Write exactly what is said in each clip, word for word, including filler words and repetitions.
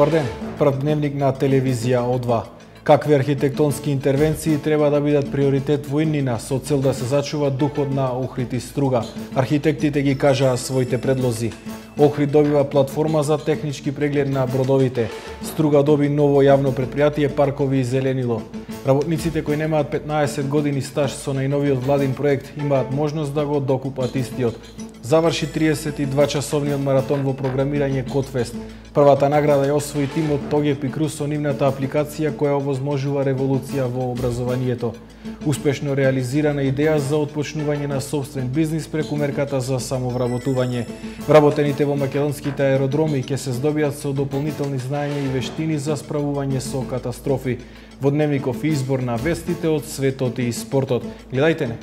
Добар ден, прв дневник на телевизија О два. Какви архитектонски интервенции треба да бидат приоритет во иднина со цел да се зачува духот на Охрид и Струга? Архитектите ги кажаа своите предлози. Охрид добива платформа за технички преглед на бродовите. Струга доби ново јавно предпријатие Паркови и зеленило. Работниците кои немаат петнаесет години стаж со најновиот владин проект имаат можност да го докупат истиот. Заврши триесет и два часовниот маратон во програмирање Кодфест. Првата награда ја освои тимот Тогеп и Крус со нивната апликација која овозможува револуција во образованието. Успешно реализирана идеја за отпочнување на собствен бизнис преку мерката за самовработување. Вработените во македонските аеродроми ќе се здобиат со дополнителни знаења и вештини за справување со катастрофи. Во дневников избор на вестите од светот и спортот. Гледајте не!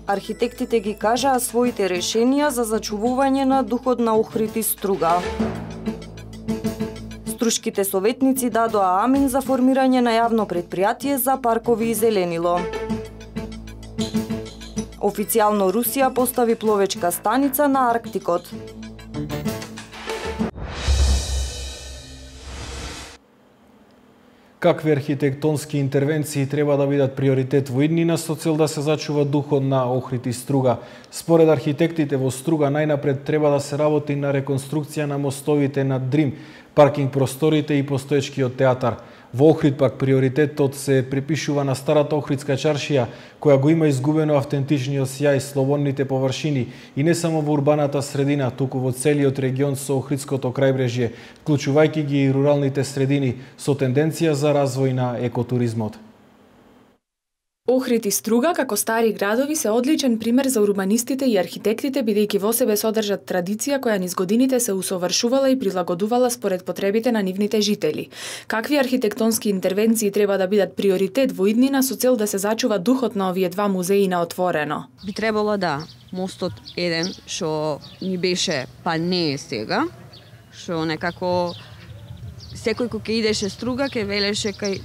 Архитектите ги кажаа своите решенија за зачувување на духот на Охрид и Струга. Струшките советници дадоа амин за формирање на јавно предпријатие за Паркови и зеленило. Официјално Русија постави пловечка станица на Арктикот. Какви архитектонски интервенции треба да бидат приоритет во иднина со цел да се зачува духот на Охрид и Струга? Според архитектите во Струга најнапред треба да се работи на реконструкција на мостовите над Дрим, паркинг просторите и постоечкиот театар. Во Охрид пак приоритетот се припишува на старата Охридска чаршија, која го има изгубено автентичниот сјај, слободните површини и не само во урбаната средина, туку во целиот регион со Охридското крајбрежје, вклучувајќи ги и руралните средини, со тенденција за развој на екотуризмот. Охрид и Струга, како стари градови, се одличен пример за урбанистите и архитектите, бидејќи во себе содржат традиција која низ годините се усовршувала и прилагодувала според потребите на нивните жители. Какви архитектонски интервенции треба да бидат приоритет во иднина со цел да се зачува духот на овие два музеи на отворено? Би требало да мостот еден што ни беше, па не е сега, што некако секој кој ќе идеше Струга ќе велеше кај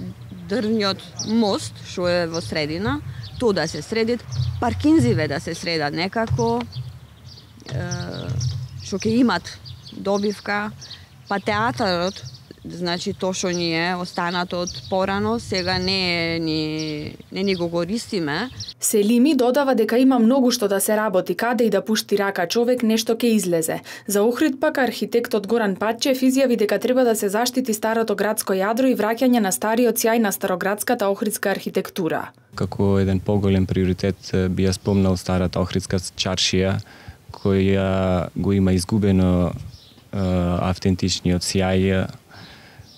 дрвниот мост, што е во средина, тоа да се средит, паркинзиве да се средат некако, што ќе имат добивка, па театарот, значи тоа што ни е останато од порано, сега не ни не ни го користиме. Селими додава дека има многу што да се работи, каде и да пушти рака човек нешто ќе излезе. За Охрид пак архитектот Горан Патчев изјави дека треба да се заштити старото градско јадро и враќање на стариот сјај на староградската охридска архитектура. Како еден поголем приоритет би ја спомнал старата охридска чаршија, која го има изгубено е, автентичниот сјај.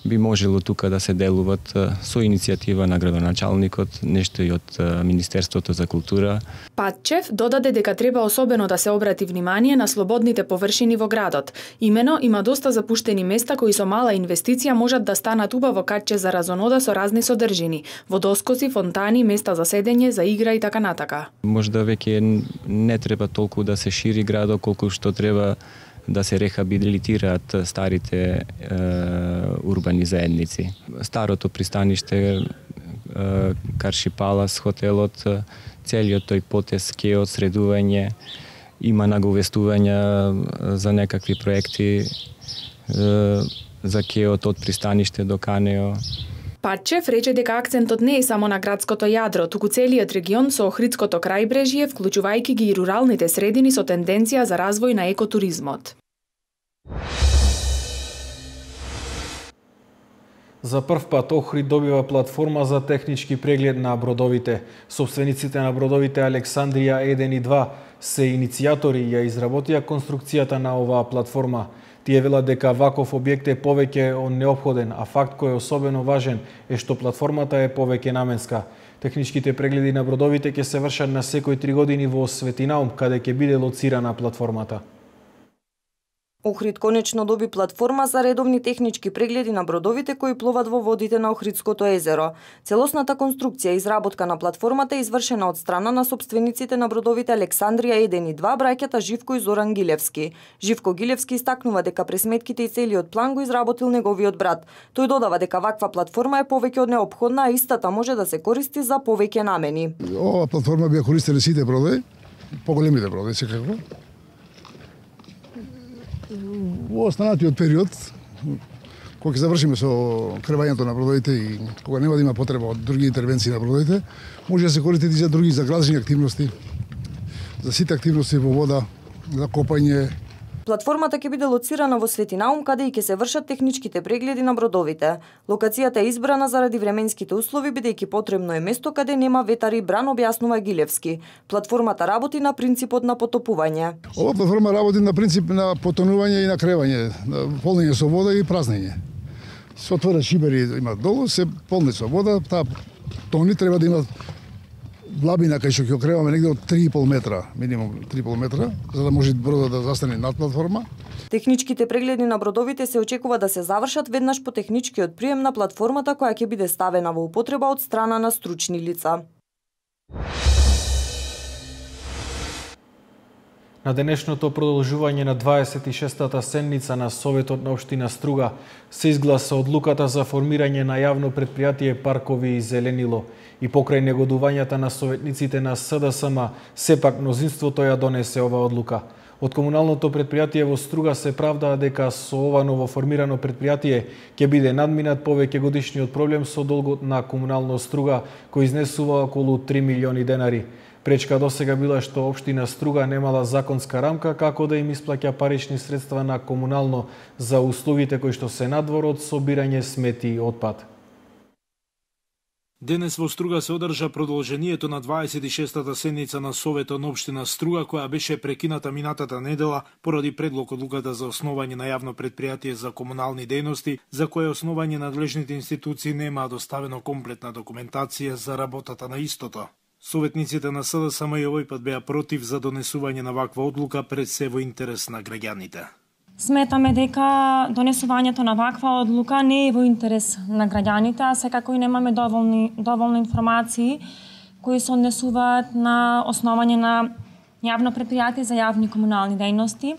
Би можело тука да се делуват со иницијатива на градоначалникот, нешто и од Министерството за култура. Патчев додаде дека треба особено да се обрати внимание на слободните површини во градот. Имено има доста запуштени места кои со мала инвестиција можат да станат убаво катче за разонода со разни содржини: водоскоци, фонтани, места за седење, за игра и така натака. Можда веќе не треба толку да се шири градот, колку што треба да се рехабилитираат старите е, урбани заедници. Старото пристаниште, е, Карши Палас, хотелот, целиот тој потез ке од средување, има наговестувања за некакви проекти, е, за кеот од пристаниште до Канео. Патчев рече дека акцентот не е само на градското јадро, туку целиот регион со Охридското крајбрежје, вклучувајќи ги и руралните средини со тенденција за развој на екотуризмот. За прв пат Охрид добива платформа за технички преглед на бродовите. Собствениците на бродовите Александрија еден и два се иницијатори ја изработија конструкцијата на оваа платформа. Тие велат дека ваков објект е повеќе од неопходен, а факт кој е особено важен е што платформата е повеќе наменска. Техничките прегледи на бродовите ќе се вршат на секој три години во Светинаум, каде ќе биде лоцирана платформата. Охрид конечно доби платформа за редовни технички прегледи на бродовите кои пловат во водите на Охридското езеро. Целосната конструкција и изработка на платформата е извршена од страна на собствениците на бродовите Александрија еден и два, браќата Живко и Зоран Гилевски. Живко Гилевски истакнува дека пресметките и целиот план го изработил неговиот брат. Тој додава дека ваква платформа е повеќе од неопходна, а истата може да се користи за повеќе намени. Ова платформа би ја користеле сите бродови, поголемите бродови секако. Во останатиот период, кога ќе завршиме со кревањето на бродовите и кога нема да има потреба од други интервенции на бродовите, може да се користи и за други заградични активности, за сите активности во вода, за копање. Платформата ќе биде лоцирана во Свети Наум, каде и ќе се вршат техничките прегледи на бродовите. Локацијата е избрана заради временските услови, бидејќи потребно е место каде нема ветар и бран, објаснува Гилевски. Платформата работи на принципот на потопување. Ова платформа работи на принцип на потонување и на кревање, на полнење со вода и празнење. Се отвора шибери има долу, се полни со вода, таа тони треба да имат длабина кај што ќе окреваме негде од три и пол метра, минимум три и пол метра, за да може бродот да застане над платформа. Техничките прегледи на бродовите се очекува да се завршат веднаш по техничкиот прием на платформата, која ќе биде ставена во употреба од страна на стручни лица. На денешното продолжување на дваесет и шестата седница на Советот на општина Струга се изгласа одлуката за формирање на јавно предпријатие Паркови и зеленило. И покрај негодувањата на советниците на С Д С М, сепак мнозинството ја донесе ова одлука. Од комуналното предпријатие во Струга се правдаа дека со ова новоформирано предпријатие ќе биде надминат повеќе годишниот проблем со долгот на комунално Струга, кој изнесува околу три милиони денари. Пречка досега била што општина Струга немала законска рамка како да им исплаќа парични средства на комунално за услугите кои што се надвор од собирање смети и отпад. Денес во Струга се одржа продолжението на дваесет и шестата седница на Советот на општина Струга, која беше прекината минатата недела поради предлог одлуката за основање на јавно предпријатие за комунални дејности, за кое основање надлежните институции немаа доставено комплетна документација за работата на истото. Советниците на С Д С М и овој пат беа против за донесување на ваква одлука пред се во интерес на граѓаните. Сметаме дека донесувањето на ваква одлука не е во интерес на граѓаните, а секако и немаме доволни, доволно информации кои се однесуваат на основање на јавно предпријатие за јавни комунални дејности.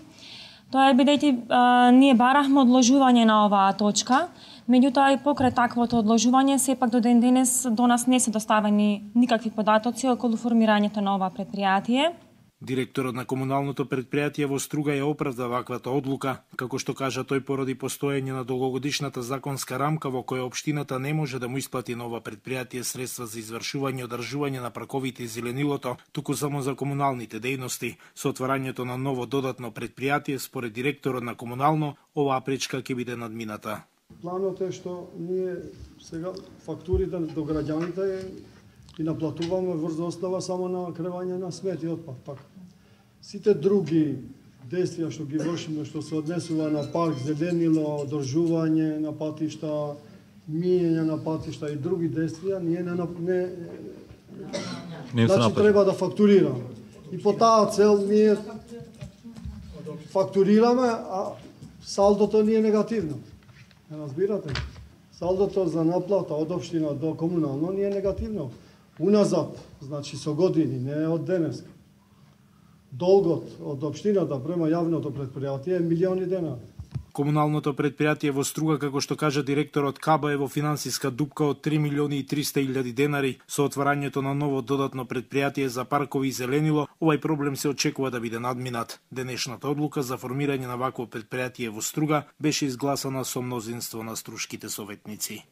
Тоа е бидејќи ние барахме одложување на оваа точка, меѓутоа и покрај таквото одложување, сепак до ден денес до нас не се доставени никакви податоци околу формирањето на ова предпријатие. Директорот на комуналното предпријатие во Струга ја оправда ваквата одлука, како што кажа тој поради постоење на долгогодишната законска рамка во која општината не може да му исплати на ова предпријатие средства за извршување и одржување на парковите и зеленилото, туку само за комуналните дејности. Со отварањето на ново додатно предпријатие, според директорот на комунално, оваа пречка ќе биде надмината. Планот е што ние сега фактурите до граѓаните и наплатуваме врз основа само на кревање на смет и отпад. Пак. Сите други действија што ги вршиме, што се однесува на парк, зеленило, одржување на патишта, миење на патишта и други действија, ние не не не значи треба да фактурираме. И по таа цел ние фактурираме, а салдото ни е негативно. Разбирате? Салдото за наплата од општина до комунално ни е негативно. Уназад, значи со години, не од денеска. Долгот од општината према јавното предпријатие е милиони денари. Комуналното предпријатие во Струга, како што кажа директорот Каба, е во финансиска дупка од три милиони и триста илјади денари. Со отварањето на ново додатно предпријатие за паркови и зеленило, овај проблем се очекува да биде надминат. Денешната одлука за формирање на вакво предпријатие во Струга беше изгласана со мнозинство на струшките советници.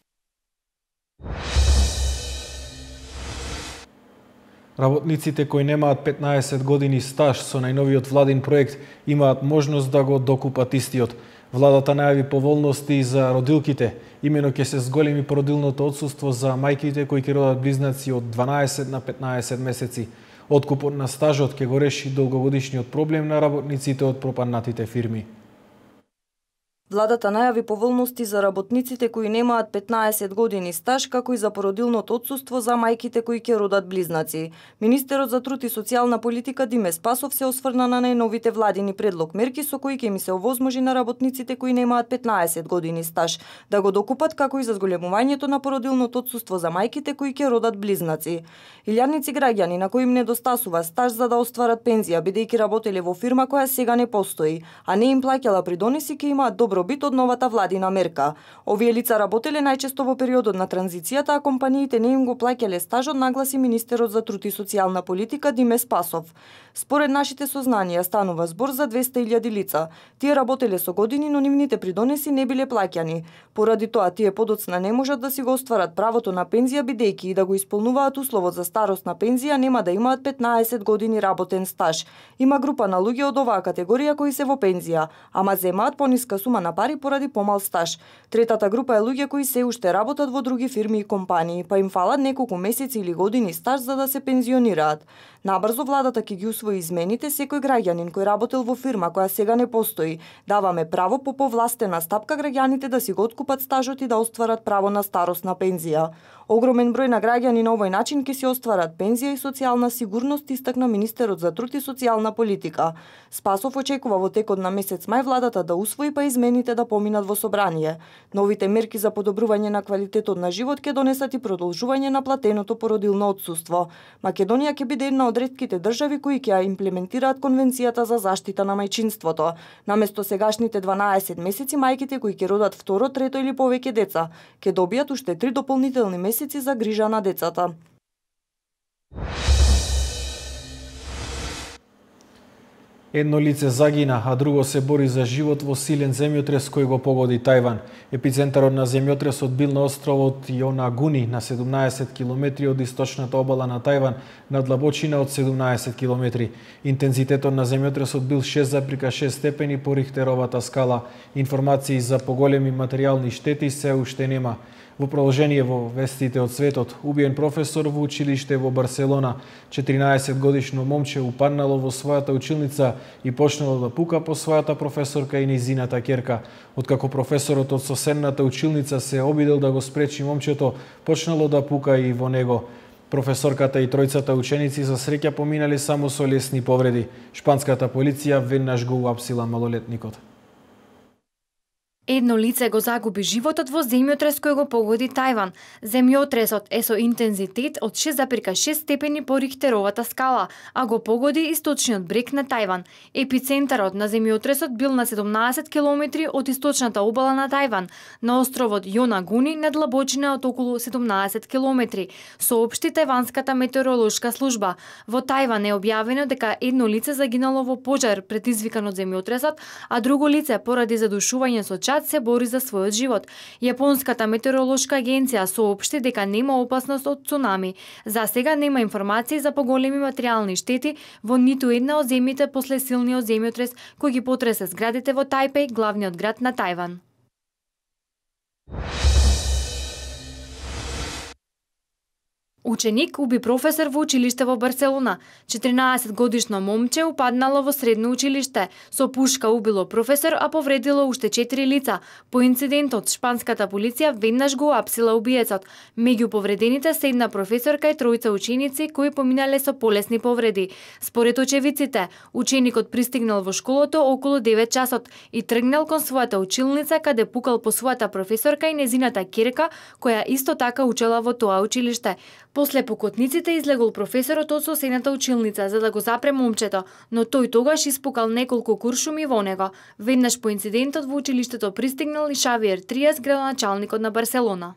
Работниците кои немаат петнаесет години стаж со најновиот владин проект имаат можност да го докупат истиот. Владата најави поволности за родилките, имено ќе се зголеми породилното отсуство за мајките кои ќе родат близнаци од дванаесет на петнаесет месеци. Откупот на стажот ќе го реши долгогодишниот проблем на работниците од пропаднатите фирми. Владата најави поволности за работниците кои немаат петнаесет години стаж, како и за породилното отсуство за мајките кои ќе родат близнаци. Министерот за труд и социјална политика Диме Спасов се осврна на најновите владини предлог мерки со кои ќе ми се овозможи на работниците кои немаат петнаесет години стаж да го докупат, како и за зголемувањето на породилното отсуство за мајките кои ќе родат близнаци. Илјадници граѓани на кои им недостасува стаж за да остварат пензија, бидејќи работеле во фирма која сега не постои, а не им плаќала придонеси, ќе имаат добро добробит од новата владина мерка. Овие лица работеле најчесто во периодот на транзицијата, а компаниите не им го плаќале стажот, нагласи министерот за труд и социјална политика Диме Спасов. Според нашите сознанија станува збор за двесте илјади лица. Тие работеле со години, но нивните придонеси не биле плаќани. Поради тоа тие подоцна не можат да си го остварат правото на пензија, бидејќи и да го исполнуваат условот за старосна пензија нема да имаат петнаесет години работен стаж. Има група на луѓе од оваа категорија кои се во пензија, ама земаат пониска сума на пари поради помал стаж. Третата група е луѓе кои се уште работат во други фирми и компании, па им фалат неколку месеци или години стаж за да се пензионираат. Набрзо владата ќе ги усвои измените, секој граѓанин кој работел во фирма која сега не постои. Даваме право по повластена стапка граѓаните да си го откупат стажот и да остварат право на старосна пензија. Огромен број на граѓани на овој начин ќе си остварат пензија и социјална сигурност, истакна министерот за труд и социјална политика. Спасов очекува во текот на месец мај владата да усвои па измените да поминат во собрание. Новите мерки за подобрување на квалитетот на живот ќе донесат и продолжување на платеното породилно отсуство. Македонија ќе биде една од ретките држави кои ќе ја имплементираат Конвенцијата за заштита на мајчинството. Наместо сегашните дванаесет месеци, мајките кои ќе родат второ, трето или повеќе деца ќе добијат уште три дополнителни месеци за грижа на децата. Едно лице загина, а друго се бори за живот во силен земјотрес кој го погоди Тајван. Епицентарот на земјотресот бил на островот Јонагуни, на седумнаесет километри од источната обала на Тајван, на длабочина од седумнаесет километри. Интензитетот на земјотресот бил шест зарез и шест степени по Рихтеровата скала. Информации за поголеми материјални штети се уште нема. Во продолжение во вестите од светот, убиен професор во училиште во Барселона, четиринаесет годишно момче упаднало во својата училница и почнало да пука по својата професорка и нејзината ќерка. Откако професорот од соседната училница се обидел да го спречи момчето, почнало да пука и во него. Професорката и тројцата ученици за среќа поминале само со лесни повреди. Шпанската полиција веднаш го уапсила малолетникот. Едно лице го загуби животот во земјотрес кој го погоди Тајван. Земјотресот е со интензитет од шест зарез и шест степени по Рихтеровата скала, а го погоди источниот брег на Тајван. Епицентарот на земјотресот бил на седумнаесет километри од источната обала на Тајван, на островот Јонагуни на длабочина од околу седумнаесет километри, соопшти тајванската метеоролошка служба. Во Тајван е објавено дека едно лице загинало во пожар предизвикан од земјотресот, а друго лице поради задушување со чад се бори за својот живот. Јапонската метеоролошка агенција соопшти дека нема опасност од цунами. За сега нема информации за поголеми материјални штети во ниту една од земјите после силниот земјотрес кој ги потресе зградите во Тајпеј, главниот град на Тајван. Ученик уби професор во училиште во Барселона. четиринаесет годишно момче упаднало во средно училиште. Со пушка убило професор, а повредило уште четири лица. По инцидентот, шпанската полиција веднаш го уапсила убиецот. Меѓу повредените се една професорка и тројца ученици кои поминале со полесни повреди. Според очевидците, ученикот пристигнал во школото околу девет часот и тргнал кон својата училница каде пукал по својата професорка и незината ќерка, која исто така учела во тоа училиште. После пукотниците излегол професорот од соседната училница за да го запре момчето, но тој тогаш испукал неколку куршуми во него. Веднаш по инцидентот во училиштето пристигнал и Шавиер Триас, градоначалникот на Барселона.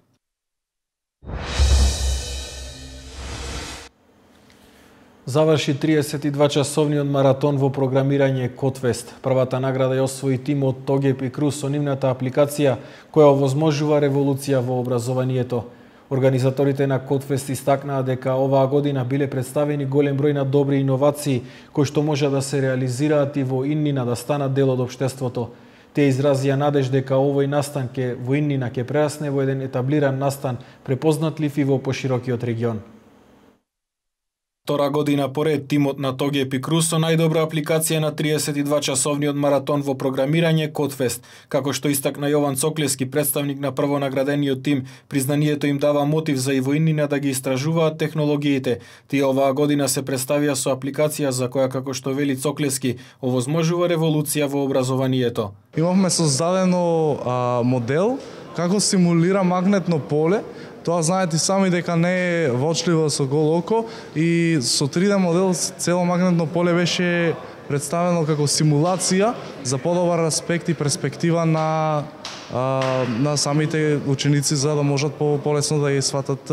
Заврши триесет и два часовниот маратон во програмирање Кодфест. Првата награда ја освои тимот Тогеп и Круз со нивната апликација која овозможува револуција во образованието. Организаторите на Кодфест истакнаа дека оваа година биле представени голем број на добри иновации кои што може да се реализираат и во иднина да станат дел од општеството. Те изразија надеж дека овој настан ке во иднина ке прерасне во еден етаблиран настан, препознатлив и во поширокиот регион. Втора година поред тимот на Тогеп и Круз со најдобра апликација на триесет и два часовниот маратон во програмирање Кодфест. Како што истакна Јован Цоклески, представник на првонаградениот тим, признанието им дава мотив за и во иднина да ги истражуваат технологиите. Тие оваа година се представија со апликација за која, како што вели Цоклески, овозможува револуција во образованието. Имавме создадено а, модел како симулира магнетно поле. Тоа знаете сами дека не е воочливо со голо око и со три Д модел цело магнетно поле беше представено како симулација за подобар аспект и перспектива на а, на самите ученици за да можат по полесно да ја сватат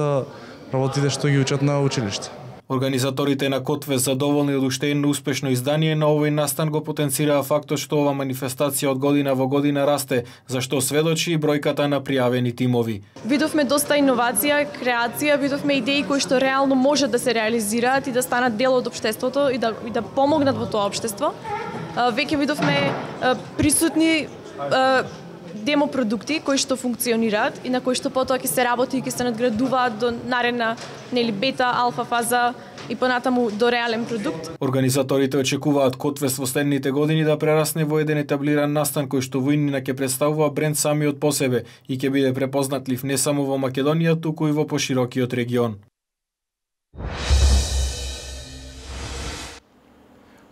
работите што ги учат на училиште. Организаторите на Котве задоволни од уште едно успешно издание на овој настан го потенцираа фактот што ова манифестација од година во година расте, за што сведочи и бројката на пријавени тимови. Видовме доста иновација, креација, видовме идеи кои што реално може да се реализираат и да станат дел од општеството и да и да помогнат во тоа општество. Веќе видовме присутни демо продукти кои што функционираат и на кои што потоа ќе се работи и ќе се надградуваат до наредна нели бета, алфа фаза и понатаму до реален продукт. Организаторите очекуваат Котвес во следните години да прерасне во еден етаблиран настан кој што во иднина ќе представува бренд самиот по себе и ќе биде препознатлив не само во Македонија, туку и во поширокиот регион.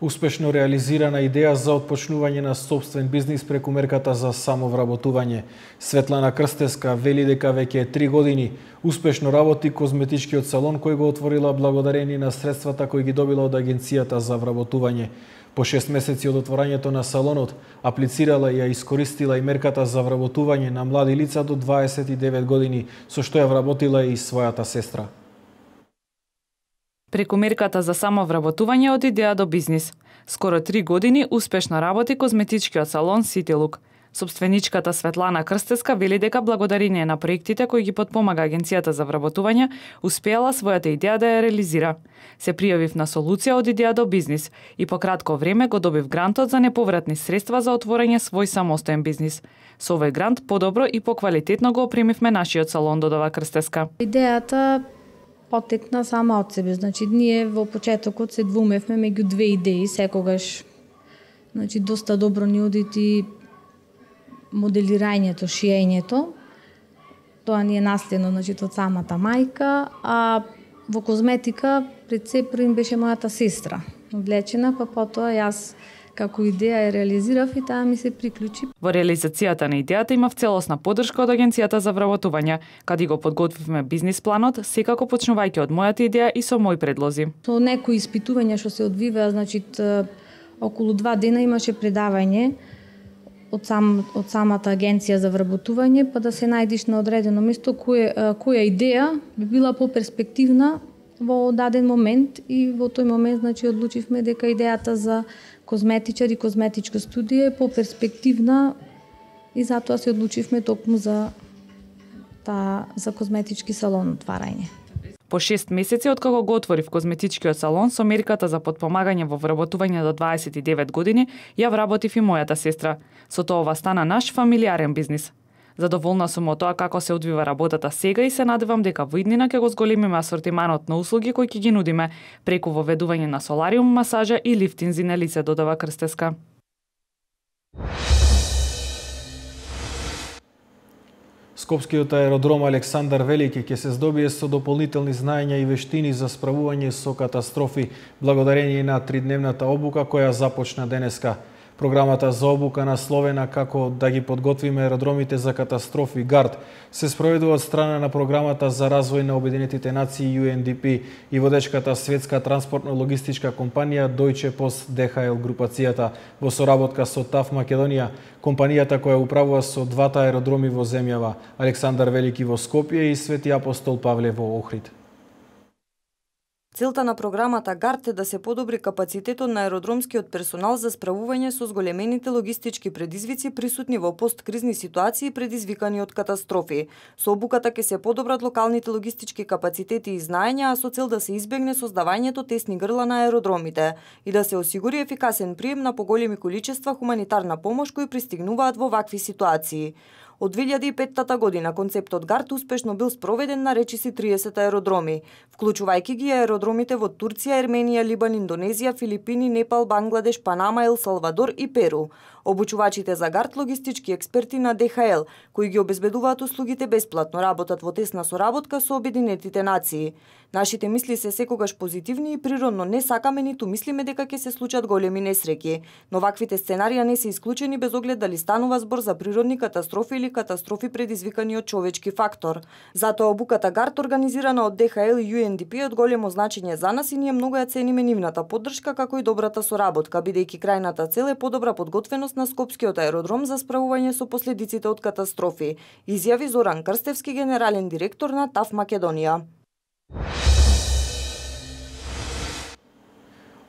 Успешно реализирана идеја за отпочнување на сопствен бизнис преку мерката за самовработување. Светлана Крстеска вели дека веќе три години успешно работи козметичкиот салон кој го отворила благодарение на средствата кои ги добила од Агенцијата за вработување. По шест месеци од отворањето на салонот, аплицирала и ја искористила и мерката за вработување на млади лица до дваесет и девет години, со што ја вработила и својата сестра. Преку мерката за самовработување од идеја до бизнис. Скоро три години успешно работи козметичкиот салон City Look. Собственичката Светлана Крстеска вели дека благодарение на проектите кои ги потпомага Агенцијата за вработување, успеала својата идеја да ја реализира. Се пријавив на солуција од идеја до бизнис и по кратко време го добив грантот за неповратни средства за отворање свој самостоен бизнис. Со овој грант подобро и поквалитетно го опремивме нашиот салон, додава Крстеска. Идејата потекна сама од себе. Значи, ние во почетокот се двумевме меѓу две идеи, секогаш значи, доста добро ни одити моделирањето, шиењето. Тоа ни е наследно значи, од самата мајка, а во козметика пред се првин беше мојата сестра. Влечена, па потоа јас како идеја ја реализирав и таа ми се приклучи. Во реализацијата на идејата имав целосна поддршка од Агенцијата за вработување, каде го подготвивме бизнис планот, секако почнувајќи од мојата идеја и со мои предлози. Со некои испитувања што се одвиваа, значи околу два дена имаше предавање од сам од самата Агенција за вработување, па да се најдиш на одредено место која која идеја би била поперспективна во даден момент и во тој момент значи одлучивме дека идејата за козметичар и козметичка студија е поперспективна и затоа се одлучивме токму за та за козметички салон отварање. По шест месеци откако го отворив козметичкиот салон со мерката за подпомагање во вработување до дваесет и девет години, ја вработив и мојата сестра. Со тоа ова стана наш фамилиарен бизнис. Задоволна сум од тоа како се одвива работата сега и се надевам дека во иднина ќе го зголемиме асортиманот на услуги кои ќе ги нудиме преку воведување на солариум, масажа и лифтинзи на лице, додава Крстеска. Скопскиот аеродром Александар Велики ќе се здобие со дополнителни знаења и вештини за справување со катастрофи благодарение на тридневната обука која започна денеска. Програмата за обука насловена како да ги подготвиме аеродромите за катастрофи ГАРД се спроведува од страна на Програмата за развој на Обединетите нации Ю Ен Ди Пи и водечката светска транспортно-логистичка компанија Deutsche Post Д Х Л групацијата во соработка со ТАФ Македонија, компанијата која управува со двата аеродроми во земјава, Александар Велики во Скопје и Свети Апостол Павле во Охрид. Целта на програмата ГАРД е да се подобри капацитетот на аеродромскиот персонал за справување со зголемените логистички предизвици присутни во посткризни ситуации предизвикани од катастрофи. Со обуката ќе се подобрат локалните логистички капацитети и знаења, а со цел да се избегне создавањето тесни грла на аеродромите и да се осигури ефикасен прием на поголеми количества хуманитарна помош кои пристигнуваат во вакви ситуации. Од две илјади и петта година концептот ГАРД успешно бил спроведен на речиси триесет аеродроми, вклучувајќи ги аеродромите во Турција, Ерменија, Либан, Индонезија, Филипини, Непал, Бангладеш, Панама, Ел Салвадор и Перу. Обучувачите за ГАРД, логистички експерти на Д Х Л, кои ги обезбедуваат услугите бесплатно, работат во тесна соработка со Обединетите нации. Нашите мисли се секогаш позитивни и природно не сакаме ниту мислиме дека ќе се случат големи несреќи, но ваквите сценарија не се исклучени без оглед дали станува збор за природни катастрофи или катастрофи предизвикани од човечки фактор. Затоа обуката ГАРД, организирана од Д Х Л и Ю Ен Ди Пи, е од големо значење за нас и ние многу ја цениме нивната поддршка како и добрата соработка, бидејќи крајната цел е подобра подготвеност на Скопскиот аеродром за справување со последиците од катастрофи, изјави Зоран Крстевски, генерален директор на ТАФ Македонија.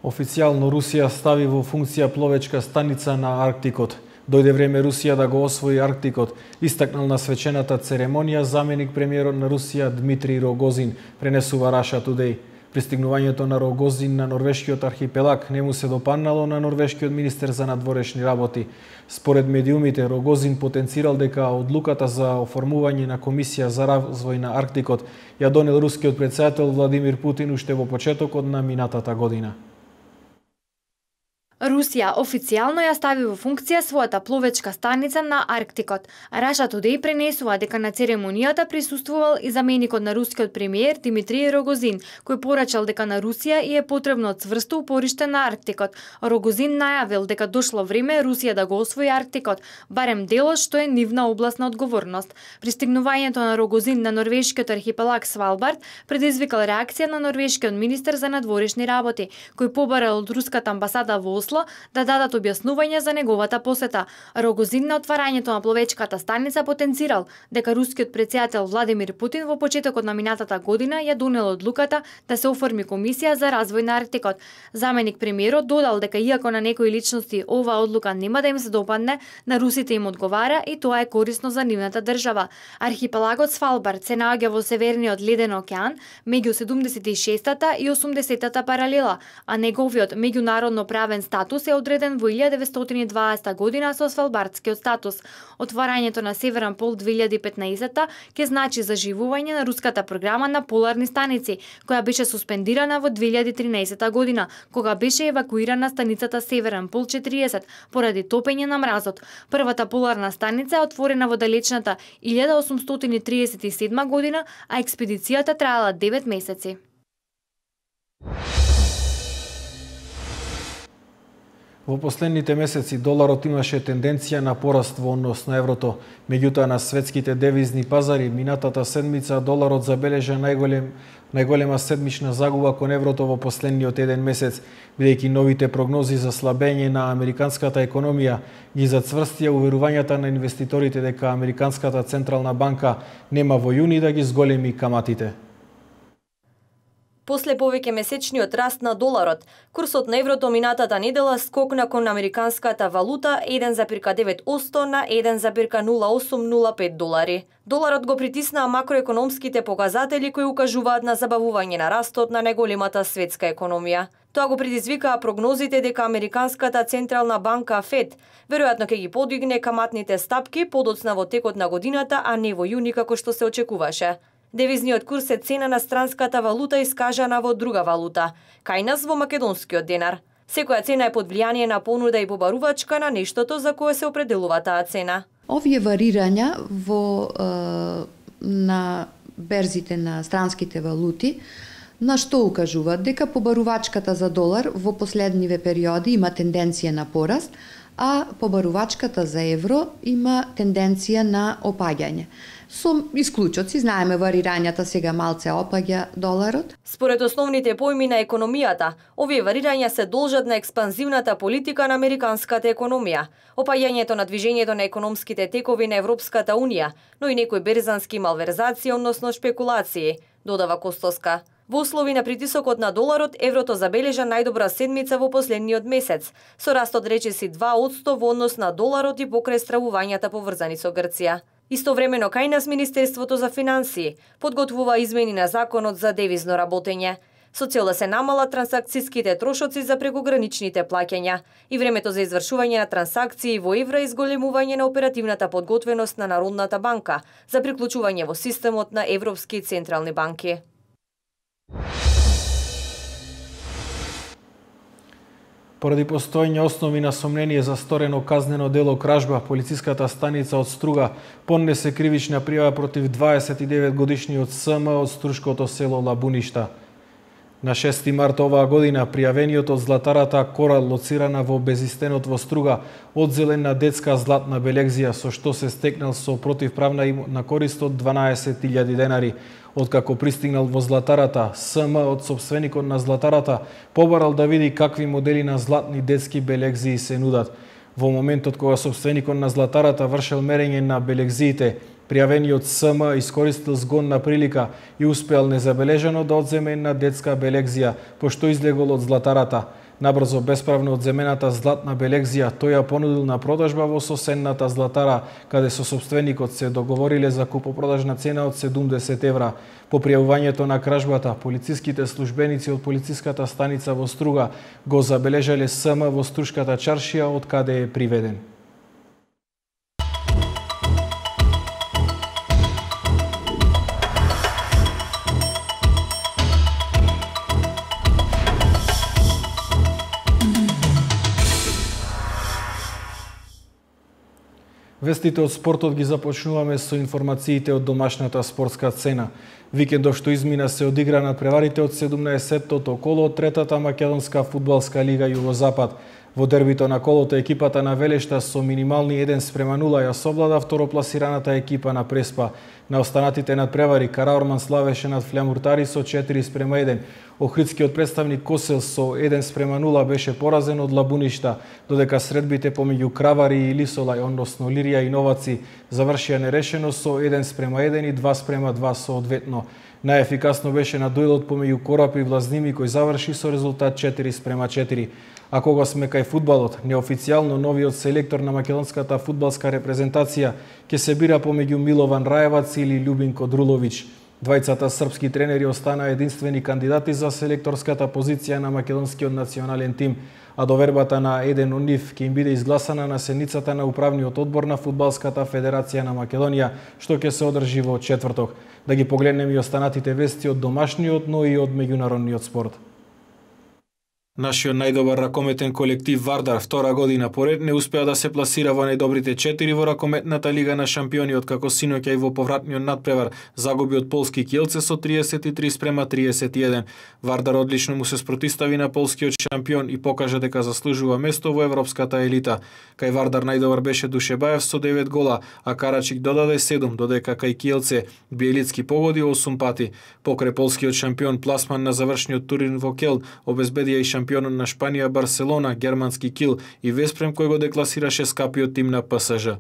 Официјално Русија стави во функција пловечка станица на Арктикот. Дојде време Русија да го освои Арктикот, истакнал на свечената церемонија заменик премиерот на Русија Дмитрий Рогозин, пренесува Russia Today. Пристигнувањето на Рогозин на норвешкиот архипелаг не му се допаднало на норвешкиот министер за надворешни работи. Според медиумите, Рогозин потенцирал дека одлуката за оформување на комисија за развој на Арктикот ја донел рускиот претседател Владимир Путин уште во почетокот на минатата година. Русија официјално ја стави во функција својата пловечка станица на Арктикот. Russia Today пренесува дека на церемонијата присуствувал и заменикот на рускиот премиер Димитрий Рогозин, кој порачал дека на Русија и е потребно цврсто упориште на Арктикот. Рогозин најавил дека дошло време Русија да го освои Арктикот, барем делот што е нивна област на одговорност. Пристигнувањето на Рогозин на норвешкиот архипелаг Свалбард предизвикал реакција на норвешкиот министер за надворешни работи, кој побарал од руската амбасада во Осло да дадат објаснување за неговата посета. Рогозин на отварањето на пловечката станица потенцирал дека рускиот претседател Владимир Путин во почетокот на минатата година ја донел одлуката да се оформи комисија за развој на Арктикот. Заменик премиерот додал дека иако на некои личности оваа одлука нема да им се допадне, на русите им одговара и тоа е корисно за нивната држава. Архипелагот Свалбард се наоѓа во северниот леден океан меѓу седумдесет и шестата и осумдесетата паралела, а неговиот меѓународно правен статус е одреден во илјада деветстотини и дваесета година со Свалбардскиот статус. Отварањето на Северен пол две илјади и петнаесета ќе значи заживување на руската програма на поларни станици, која беше суспендирана во две илјади и тринаесета година, кога беше евакуирана станицата Северен пол четириесет поради топење на мразот. Првата поларна станица е отворена во далечната илјада осумстотини триесет и седма година, а експедицијата траела девет месеци. Во последните месеци доларот имаше тенденција на пораст во однос на еврото. Меѓутоа на светските девизни пазари минатата седмица доларот забележа најголем најголема седмична загуба кон еврото во последниот еден месец, бидејќи новите прогнози за слабење на американската економија ги зацврстија уверувањата на инвеститорите дека американската централна банка нема во јуни да ги зголеми каматите. После повеќе месечниот раст на доларот, курсот на еврото минатата недела скокна кон американската валута еден запирка девет одсто на еден запирка нула осум нула пет долари. Доларот го притиснаа макроекономските показатели кои укажуваат на забавување на растот на најголемата светска економија. Тоа го предизвикаа прогнозите дека американската централна банка Фед веројатно ќе ги подигне каматните стапки подоцна во текот на годината, а не во јуни како што се очекуваше. Девизниот курс е цена на странската валута искажана во друга валута, кај нас во македонскиот денар. Секоја цена е под влијание на понуда и побарувачка на нештото за кое се определува таа цена. Овие варирања во е, на берзите на странските валути на што укажуваат дека побарувачката за долар во последниве периоди има тенденција на пораст, а побарувачката за евро има тенденција на опаѓање. Со исклучоци, знаеме варирањата сега малце опаѓа доларот. Според основните поими на економијата, овие варирања се должат на експанзивната политика на американската економија, опаѓањето на движењето на економските текови на Европската Унија, но и некои берзански малверзации, односно шпекулации, додава Костоска. Во услови на притисокот на доларот, еврото забележа најдобра седмица во последниот месец, со растот речиси два одсто во однос на доларот и покрај стравувањата поврзани со Грција. Истовремено кај нас Министерството за финансии подготвува измени на законот за девизно работење, со цел да се намалат трансакцијските трошоци за прекограничните плаќања и времето за извршување на трансакции во евра и зголемување на оперативната подготвеност на Народната банка за приклучување во системот на европски централни банки. Поради постоење основи на сомнение за сторено казнено дело кражба, полициската станица од Струга поднесе кривична пријава против дваесет и девет годишниот С М од струшкото село Лабуништа. На шести март оваа година пријавениот од златарата Корал, лоцирана во Безистенот во Струга, одзелен на детска златна белегзија со што се стекнал со противправна на корист од дванаесет илјади денари. Откако пристигнал во златарата, С М од собственикот на златарата побарал да види какви модели на златни детски белегзии се нудат. Во моментот кога собственикот на златарата вршел мерење на белегзиите, пријавениот С М искористил згодна прилика и успеал незабележано да одземе една детска белегзија, пошто излегол од златарата. Набрзо бесправно одземената златна белегзија тој ја понудил на продажба во соседната златара, каде со собственикот се договориле за купопродажна цена од седумдесет евра. По пријавувањето на кражбата, полициските службеници од полициската станица во Струга го забележале С М во Струшката чаршија, од каде е приведен. Вестите од спортот ги започнуваме со информациите од домашната спортска сцена. Викендов што измина се одигра надпреварите од седумнаесеттото коло од третата македонска фудбалска лига Југозапад. Во дербито на колото екипата на Велешта со минимални еден спрема нула ја совлада второпласираната екипа на Преспа. На останатите надпревари Караорман славеше над Флямуртари со четири спрема еден. Охридскиот представник Косел со еден спрема нула беше поразен од Лабуништа, додека средбите помеѓу Кравари и Лисолај, односно Лирија и Новаци, завршија нерешено со еден спрема еден и два спрема два соодветно. Најефикасно беше на дуелот помеѓу Корапи и Влазними, кој заврши со резултат четири спрема четири. А кога сме кај фудбалот, неофицијално новиот селектор на македонската фудбалска репрезентација ќе се бира помеѓу Милован Раевац или Љубинко Друловиќ. Двајцата српски тренери останаа единствени кандидати за селекторската позиција на македонскиот национален тим, а довербата на еден од нив ќе им биде изгласана на седницата на управниот одбор на Фудбалската федерација на Македонија, што ќе се одржи во четврток. Да ги погледнеме и останатите вести од домашниот, но и од меѓународниот спорт. Нашиот најдобар ракометен колектив Вардар втора година поред не успеа да се пласира во најдобрите четири во ракометната лига на шампиони, откако синоќа и во повратниот надпревар загуби од полски Киелце со триесет и три спрема триесет и еден. Вардар одлично му се спротистави на полскиот шампион и покажа дека заслужува место во европската елита. Кај Вардар најдобар беше Душебаев со девет гола, а Карачик додаде седум, додека кај Киелце Биелицки погоди осум пати. Покрај полскиот шампион пласман на завршниот турнир во Келн обезбедија и шампионот на Шпанија Барселона, германски Кил и Веспрем, кој го декласираше скапиот тим на П С Ж.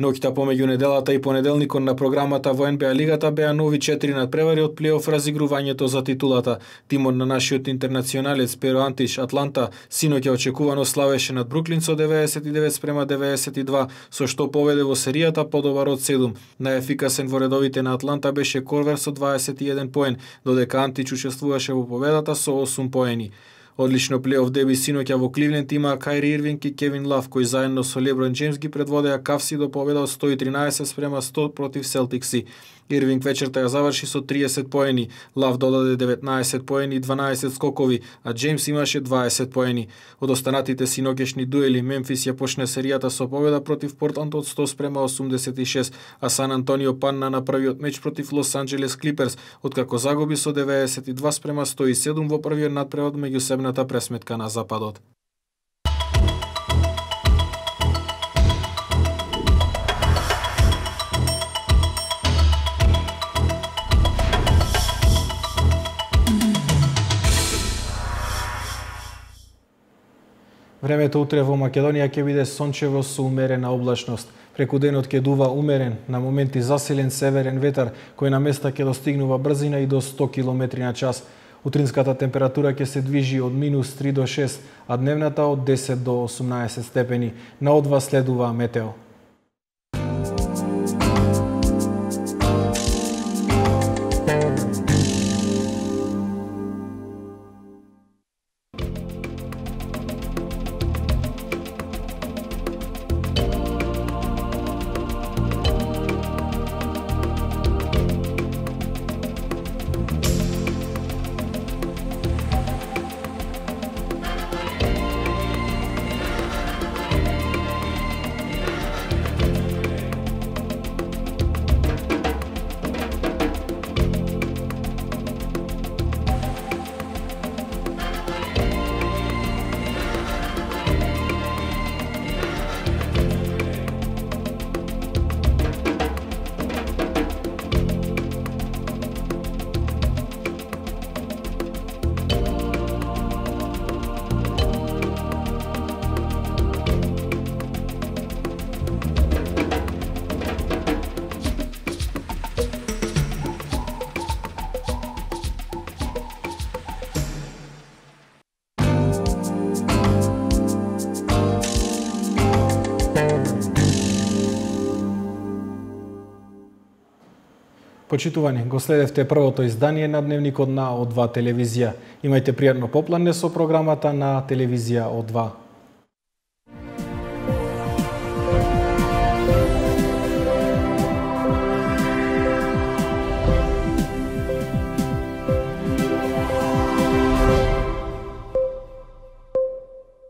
Ноќта помеѓу неделата и понеделникот на програмата во Н Б А лигата беа нови четири надпревари од плейоф разигрувањето за титулата. Тимот на нашиот интернационалец Перо Антиш Атланта синоќа очекувано славеше над Бруклин со деветдесет и девет спрема деветдесет и два, со што поведе во серијата подобар од седум. Најефикасен во редовите на Атланта беше Корвер со дваесет и еден поен, додека Антич учествуваше во победата со осум поени. Одлично плейоф деби синоќа во Кливленд има Кајри Ирвинг и Кевин Лав, кои заедно со Леброн Джеймс ги предводеа Кавси до победа од сто и тринаесет спрема сто против Селтикси. Ирвинг вечерта ја заврши со триесет поени, Лав додаде деветнаесет поени и дванаесет скокови, а Джеймс имаше дваесет поени. Од останатите синоќешни дуели, Мемфис ја почне серијата со победа против Портланд од сто спрема осумдесет и шест, а Сан Антонио падна на првиот меч против Лос Анџелес Клиперс, откако загуби со деветдесет и два спрема сто и седум во првиот надпревар меѓусебната пресметка на Западот. Времето утре во Македонија ќе биде сончево со умерена облачност. Преку денот ќе дува умерен, на моменти засилен северен ветар, кој на места ќе достигнува брзина и до сто километри на час. Утринската температура ќе се движи од минус три до шест, а дневната од десет до осумнаесет степени. На одва следува метео. Почитувани, го следевте првото издание на Дневникот на О два телевизија. Имајте пријатно поплане со програмата на телевизија О два.